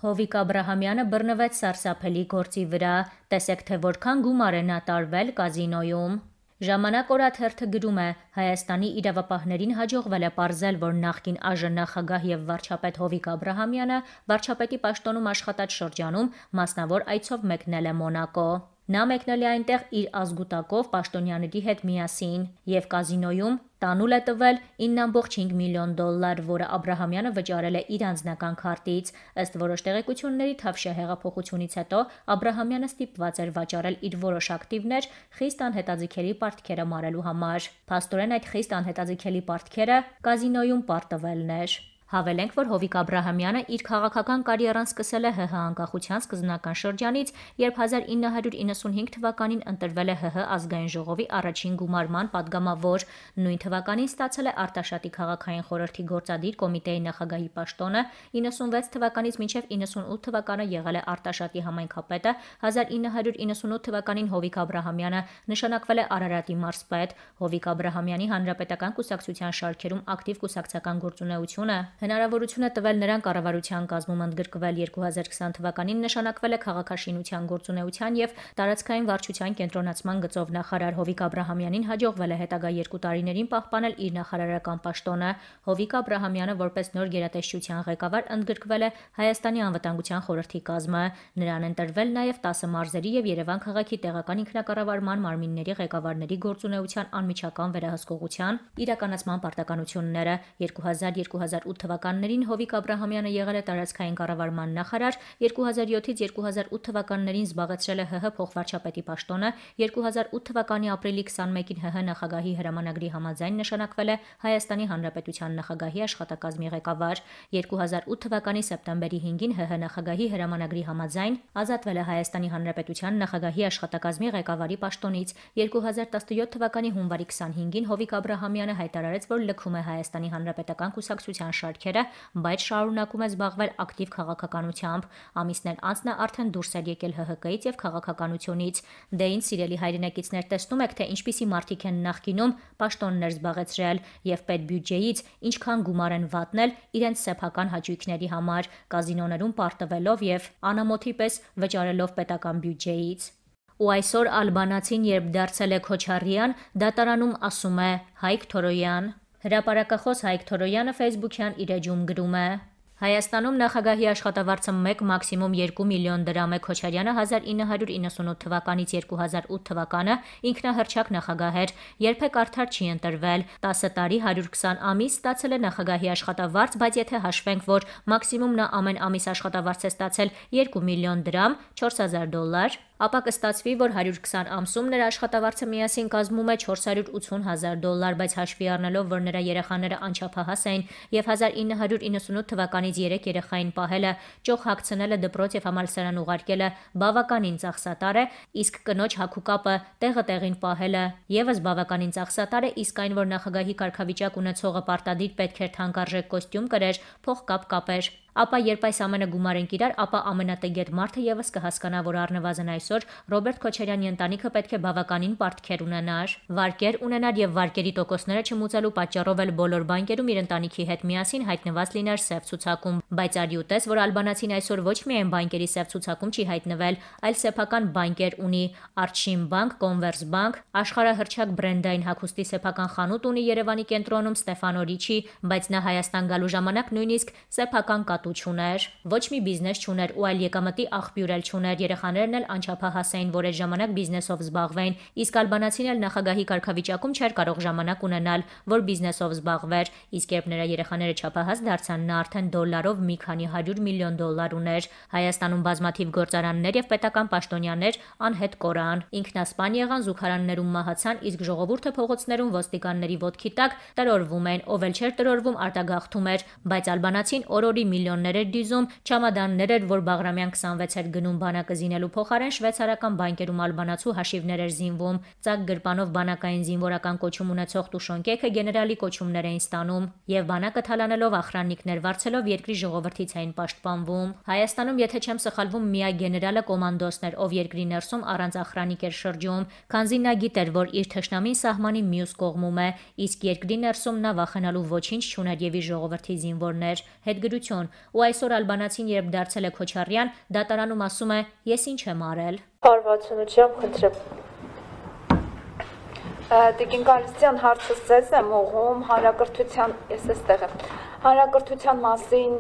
Հովիկ Աբրահամյանը բռնվեց սարսափելի գործի վրա, տեսեք թե որքան գումար է նա տարվել կազինոյում։ Ժամանակ օրաթերթը գրում է. Հայաստանի իրավապահներին հաջողվել է պարզել, որ նախկին ԱԺ նախագահ եւ վարչապետ Հովիկ Աբրահամյանը վարչապետի պաշտոնում աշխատած շրջանում մասնավոր այցով մեկնել է Մոնակո։ Նա մեկնել է այնտեղ իր ազգուտակով պաշտոնյաների հետ միասին եւ կազինոյում տանուլ է տվել 9.5 միլիոն դոլար, որը Աբրահամյանը վճարել է իր անձնական քարտից։ Ըստ որոշ տեղեկությունների, Թավշյա հեղափոխությունից հետո Աբրահամյանը ստիպված էր վաճառել իր որոշ ակտիվներ խիստ անհետաձգելի պարտքերը մարելու համար։ Փաստորեն այդ խիստ անհետաձգելի պարտքերը կազինոյում պարտվելն էր։ Հավելենք, որ Հովիկ Աբրահամյանը իր քաղաքական կարիերան սկսել է ՀՀ անկախության սկզբնական շրջանից, երբ 1995 թվականին ընտրվել է ՀՀ ազգային ժողովի առաջին գումարման падգամավոր, նույն թվականին ստացել է Արտաշատի քաղաքային խորհրդի գործադիր կոմիտեի նախագահի պաշտոնը, 96 թվականից մինչև 98 թվականը եղել է Արտաշատի համայնքապետը, 1998 թվականին Հովիկ Աբրահամյանը նշանակվել է Արարատի մարզպետ։ Հովիկ Աբրահամյանի հանրապետական կուսակցության շարքերում ակտիվ կուսակցական գործունեությունը հնարավորություն է տվել նրան կառավարության կազմում ընդգրկվել 2020 թվականին նշանակվել է քաղաքաշինության գործունեության եւ տարածքային վարչության կենտրոնացման գծով նախարար Հովիկ Աբրահամյանին հաջողվել է հետագա 2 տարիներին պահպանել իր նախարարական պաշտոնը։ Հովիկ Աբրահամյանը որպես նոր գերատեսչության ղեկավար ընդգրկվել է Հայաստանի անվտանգության խորհրդի կազմը։ Նրան ընտրվել նաեւ 10 մարզերի եւ Երևան քաղաքի տեղական ինքնակառավարման մարմինների ղեկավարների գործունեության անմիջական վերահսկողության իրականացման պարտականությունները 2000-2008 թվականներին Հովիկ Աբրահամյանը եղել է տարածքային կառավարման նախարար, 2007-ից 2008 թվականներին զբաղեցրել է ՀՀ փոխվարչապետի պաշտոնը, 2008 թվականի ապրիլի 21-ին ՀՀ նախագահի հրամանագրի համաձայն նշանակվել է Հայաստանի Հանրապետության նախագահի աշխատակազմի ղեկավար, 2008 թվականի սեպտեմբերի 5-ին ՀՀ նախագահի հրամանագրի համաձայն ազատվել է Հայաստանի Հանրապետության նախագահի աշխատակազմի ղեկավարի պաշտոնից, 2017 թվականի հունվարի 25-ին Հովիկ Աբրահամյանը հայտարարեց, որ լքում է Հայաստանի Հանրապետական կուսակցության շարքերը, բայց շարունակում է զբաղվել ակտիվ քաղաքականությամբ։ Ամիսներ անց նա արդեն դուրս էր եկել ՀՀԿ-ից եւ քաղաքականությունից։ Դե ինչ սիրելի հայրենակիցներ, տեսնում եք, թե ինչպիսի մարդիկ են նախկինում պաշտոններ զբաղեցրել եւ պետբյուջեից ինչքան գումար են վատնել իրենց սեփական հաճույքների համար, կազինոներում պարտվելով եւ անամոթի պես վճարելով պետական բյուջեից։ Ու այսօր ալբանացին, երբ դարձել է Քոչարյան, դատարանում ասում է Հայկ Թորոյան։ Հրապարակախոս Հայկ Թորոյանը Facebook-յան իր էջում գրում է. Հայաստանում նախագահի աշխատավարձը 1, մաքսիմում 2 միլիոն դրամ է։ Քոչարյանը 1998 թվականից 2008 թվականը ինքնահռչակ նախագահ էր, երբեք արդար չի ընտրվել, 10 տարի 120 ամիս ստացել է նախագահի աշխատավարձ, բայց եթե հաշվենք, որ մաքսիմում նա ամեն ամիս աշխատավարձ է ստացել 2 միլիոն դրամ, 4000 դոլար, ապա կստացվի, որ 120 ամսում նրա աշխատավարձը միասին կազմում է 480 000 դոլար, բայց հաշվի առնելով, որ նրա երեխաները անչափահաս էին եւ 1998 թվականից 3 երեխային պահելը, ճոխ հագցնելը, դպրոց եւ համալսարան ուղարկելը բավականին ծախսատար է, իսկ կնոջ հագուկապը տեղը տեղին պահելը եւս բավականին ծախսատար է, իսկ այն, որ նախագահի կարգավիճակ ունեցողը պարտադիր պետք էր թանկարժեք կոստյում կրեր, փողկապ կապեր, ապա երբ այս ամենը գումարենք իրար, ապա ամենատեգետ մարդը եւս կհասկանա, որ առնվազն այսօր Ռոբերտ Քոչարյանի ընտանիքը պետք է բավականին պարտքեր ունենար, վարկեր ունենար եւ վարկերի տոկոսները չմուծելու պատճառով էլ բոլոր բանկերում իր ընտանիքի հետ միասին հայտնված լիներ սև ցուցակում, բայց արի ուտես, որ ալբանացին այսօր ոչ միայն բանկերի սև ցուցակում չի հայտնվել, այլ սեփական բանկեր ունի, Արտշին բանկ, Կոնվերս բանկ, աշխարհահռչակ բրենդային հագուստի սեփական խանութ ունի Երևանի կենտրոնում Ստեֆանո Ռիչի, բայց նա Հայաստան գալու ժամանակ նույնիսկ սեփական չուներ, ոչ մի բիզնես չուներ ու այլ եկամտի աղբյուր էլ չուներ, երեխաներն էլ անչափահաս էին, որ այդ ժամանակ բիզնեսով զբաղվեին, իսկ ալբանացին էլ նախագահի կարգավիճակում չէր կարող ժամանակ ունենալ, որ բիզնեսով զբաղվեր, իսկ երբ նրա երեխաները չափահաս դարձան, նա արդեն դոլարով մի քանի 100 միլիոն դոլար ուներ։ Հայաստանում բազմաթիվ գործարաններ եւ պետական պաշտոնյաներ անհետ կորան, ինքնասպան եղան, զուգարաններում մահացան, իսկ ժողովուրդը փողոցներում ոստիկանների ոտքի տակ տրորվում էին, ով էլ չէր տրորվում արտագաղթում էր, բայց ալբանացին օրորի միլիոններ էր դիզում, չամադաններ էր, որ Բաղրամյան 26 էր գնում բանակը զինելու փոխարեն շվեյցարական բանկերում ալբանացու հաշիվներ էր զինվում, ծակ գրպանով բանակային զինվորական կոչում ունեցող Տուշոնկեքը գեներալի կոչումներ էին ստանում եւ բանակը թալանելով ախրաննիկներ վարձելով երկրի ժողովրդից էին պաշտպանվում։ Հայաստանում, եթե չեմ սխալվում, միակ գեներալը կոմանդոսն էր, ով երկրի ներսում առանց ախրանիկ էր շրջում, քանզի նա գիտեր, որ իր թշնամին սահմանի մյուս կողմում է, իսկ երկրի ներսում նա վախենալու ոչինչ չուներ եւ իր ժողովրդի զինվորներ։ Հետգրություն Ու այսօր ալբանացին, երբ դարձել է Քոչարյան, դատարանում ասում է՝ ես ինչ եմ արել։ Հարվածությունությամբ խնդրեմ։ Տիկին Գալստյան, հարցս ձեզ եմ ուղղում հանրակրթության մասին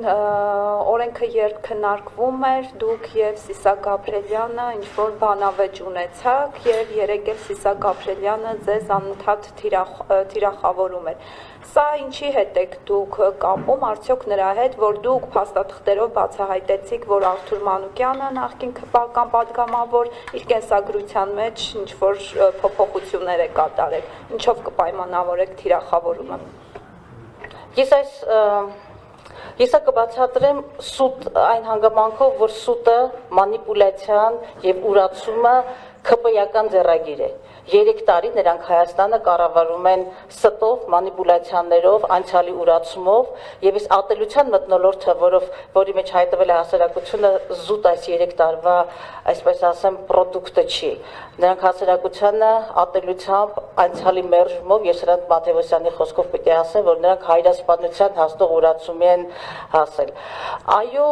օրենքը երբ քննարկվում էր, դուք եւ Սիսակ Գաբրելյանը ինչ-որ բանավեճ ունեցաք եւ երեք էլ Սիսակ Գաբրելյանը ձեզ անընդհատ թիրախավորում էր։ Սա ինչի հետ եք դուք կապում, արդյոք նրա հետ, որ դուք փաստաթղթերով բացահայտեցիք, որ Արթուր Մանուկյանը նախկին քպական պատգամավոր իր կենսագրության մեջ ինչ-որ փոփոխություններ է կատարել, ինչով կպայմանավորեք թիրախավորումը։ Ես կբացատրեմ սուտ այն հանգամանքով, որ սուտը մանիպուլյացիան եւ ուրացումը ԿՊ-ական ձեռագիր է։ 3 տարի նրանք Հայաստանը կառավարում են ստով, մանիպուլյացիաներով, անցյալի ուրացումով եւ այս ատելության մթնոլորտը, որի մեջ հայտնվել է հասարակությունը, զուտ այս 3 տարվա, այսպես ասեմ, պրոդուկտը չի։ Նրանք հասարակությանը ատելությամբ, անցյալի մերժումով, ես Սրանտ Մաթևոսյանի խոսքով պետք է ասեմ, որ նրանք հայրասպանության հասնող ուրացումի են հասել։ Այո,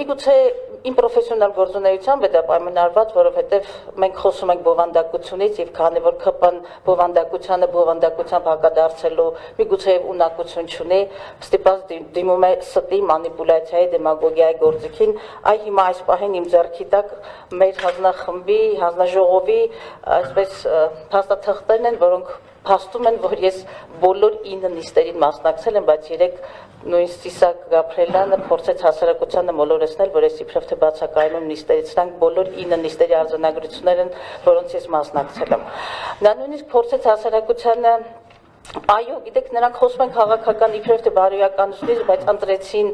միգուցե իմ պրոֆեսիոնալ գործունեությամբ է դա պայմանավորված, որովհետեւ մենք խոսում ենք բովանդակությունից եւ քանի որ ԿՊ-ն բովանդակությամբ հակադարձելու միգուցե ունակություն չունի, ստիպած դիմում է ստի մանիպուլյացիայի, դեմագոգիայի գործիքին, այ հիմա այս պահին իմ ձեռքի տակ մեր հանձնախմբի, հանձնաժողովի, այսպես փաստաթղթերն են, որոնք փաստում են, որ ես բոլոր 9 նիստերին մասնակցել եմ, բայց 3 նույն Սիսակ Գաբրելյանը փորձեց հասարակությանը մոլորեցնել, որ ես իբրև թե բացակայում նիստերից, սրանք բոլոր 9 նիստերի արձանագրություններ են, որոնց ես մասնակցել եմ։ Նա նույնիսկ փորձեց հասարակությանը Այո, գիտեք, նրանք խոսում են քաղաքական իբրև թե բարոյականությունից, բայց ընտրեցին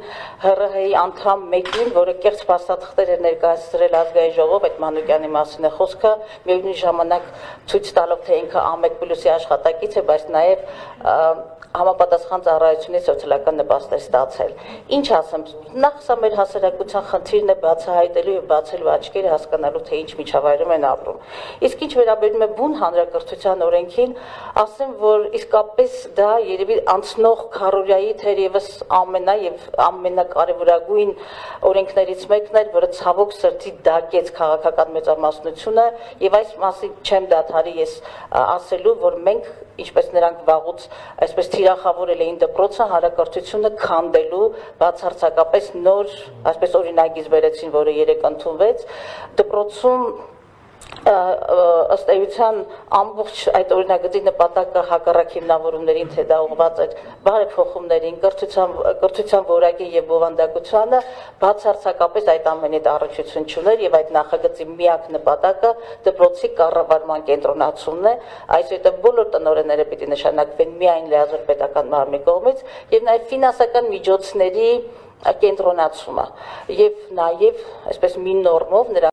ՀՌՀ-ի անդամ մեկին, որը կեղծ փաստաթղթեր էր ներկայացրել ազգային ժողով, այդ Մանուկյանի մասին է խոսքը, միևնույն ժամանակ ցույց տալով, թե ինքը ԱՄԵԿ+-ի աշխատակից է, բայց նաև համապատասխան ծառայությունից սոցիալական նպաստ է ստացել։ Ինչ ասեմ, նախ սա մեր հասարակության խնդիրն է բացահայտելու եւ բացելու աչքերը հասկանալու, թե ինչ միջավայրում են ապրում։ Իսկ ինչ վերաբերում է բուն հանրակրթության օրենքին, ասեմ, որ իսկապես դա երևի անցնող քառորյայի թերևս ամենակարևորագույն օրենքներից մեկն էր, որը ցավոք սրտի դակեց քաղաքական մեծամասնությունը եւ այս մասին չեմ դադարի ես ասելու, որ մենք ինչպես նրանք վաղուց այսպես թիրախավորել էին դպրոցը հանրակրթությունը քանդելու բացարձակապես նոր այսպես օրինագիծ բերեցին, որը 3 ընդունվեց դպրոցում ըստ էության ամբողջ այդ օրինագծի նպատակը հակառակ հիմնավորումներին թե դա ուղղված էր բարեփոխումներին, կրթության որակի եւ բովանդակությանը բացարձակապես այդ ամենից առնչություն չուներ եւ այդ նախագծի միակ նպատակը դպրոցի կառավարման կենտրոնացումն է, այսինքն բոլոր տնօրենները պիտի նշանակվեն միայն լիազոր պետական մարմնի կողմից եւ նաեւ ֆինանսական միջոցների կենտրոնացումը եւ նաեւ այսպես մի նորմով